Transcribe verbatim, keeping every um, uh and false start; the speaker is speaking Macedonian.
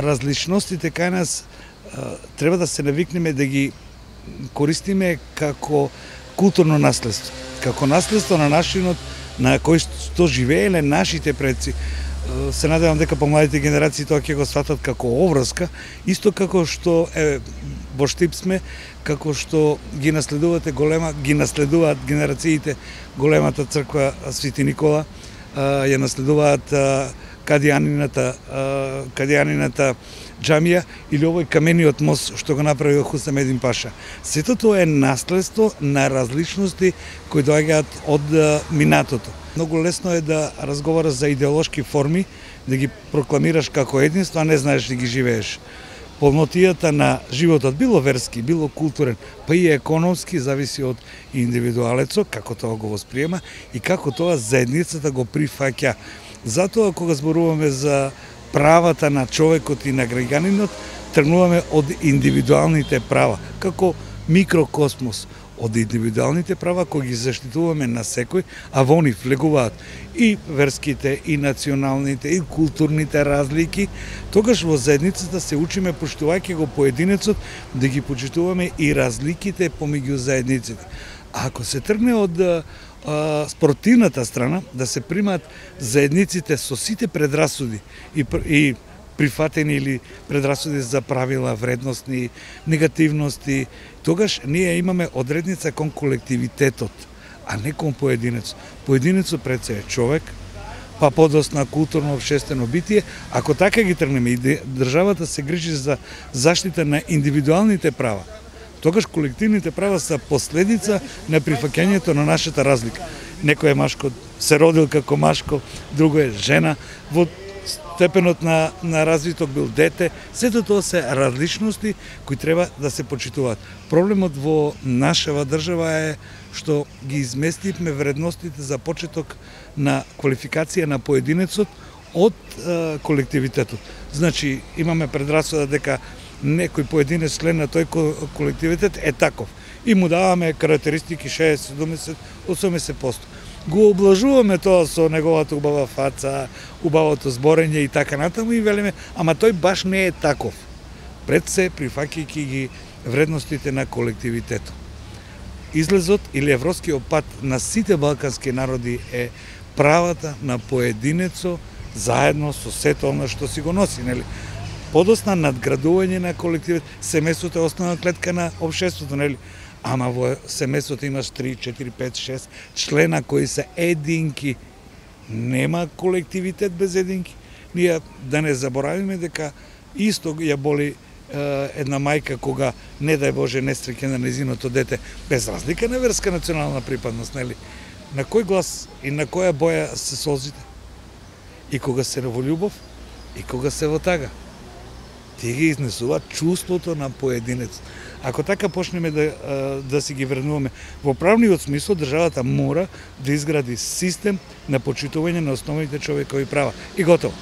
различностите кај нас треба да се навикнеме да ги користиме како културно наследство, како наследство на нашинот на кој што живееле нашите предци. Се надевам дека помладите генерации тоа ќе го сватат како обврска, исто како што е во Штип сме, како што ги наследувате голема, ги наследуваат генерациите големата црква Свети Никола, ја наследуваат Кадијанината, Кадијанината џамија или овој камениот мост што го направи Хусам Един Паша. Сето тоа е наследство на различности кои доаѓаат од минатото. Многу лесно е да разговараш за идеолошки форми, да ги прокламираш како единство, а не знаеш да ги живееш. Полнотијата на животот, било верски, било културен, па и економски, зависи од индивидуалецот, како тоа го восприема и како тоа заедницата го прифаќа. Затоа, кога зборуваме за правата на човекот и на граѓанинот, тргнуваме од индивидуалните права, како микрокосмос, од индивидуалните права кои ги заштитуваме на секој, а во нив влегуваат и верските, и националните, и културните разлики, тогаш во заедницата се учиме, поштувајќи го поединецот, да ги почитуваме и разликите помеѓу заедниците. А ако се тргне од а, спортивната страна, да се примаат заедниците со сите предрасуди и, и прифатени или предрасуди за правила, вредностни, негативности, тогаш ние имаме одредница кон колективитетот, а не кон поединецот. Поединецот пред се е човек, па подосна културно општествено битие. Ако така ги тргнеме и државата се грижи за заштита на индивидуалните права, тогаш колективните права се последица на прифаќањето на нашата разлика. Некој е машко, се родил како машко, друго е жена, во степенот на, на развиток бил дете, сето тоа се различности кои треба да се почитуваат. Проблемот во нашава држава е што ги изместивме вредностите за почеток на квалификација на поединецот од е, колективитетот. Значи, имаме предрасуда дека некој поединец член на тој колективитет е таков и му даваме карактеристики шеесет, седумдесет, осумдесет проценти. Го облажуваме тоа со неговата убава фаца, убавото зборење и така натаму и велиме, ама тој баш не е таков. Пред се прифаќајќи ги вредностите на колективитетот. Излезот или европскиот пат на сите балкански народи е правата на поединецот заедно со сето она што си го носи, нели? Подосна надградување на колективот, семејството е основна клетка на општеството, нели? Ама во семејството имаш три, четири, пет, шест члена кои се единки. Нема колективитет без единки. Ние да не заборавиме дека исто ја боли е, една мајка кога, не дај Боже, не стреке на незиното дете, без разлика на верска национална припадност, нели? На кој глас и на која боја се солзите? И кога се во љубов, и кога се во тага. Тие ги изнесуваат чувството на поединец. Ако така почнеме да, да си ги вреднуваме во правниот смисол, државата мора да изгради систем на почитување на основните човекови права. И готово.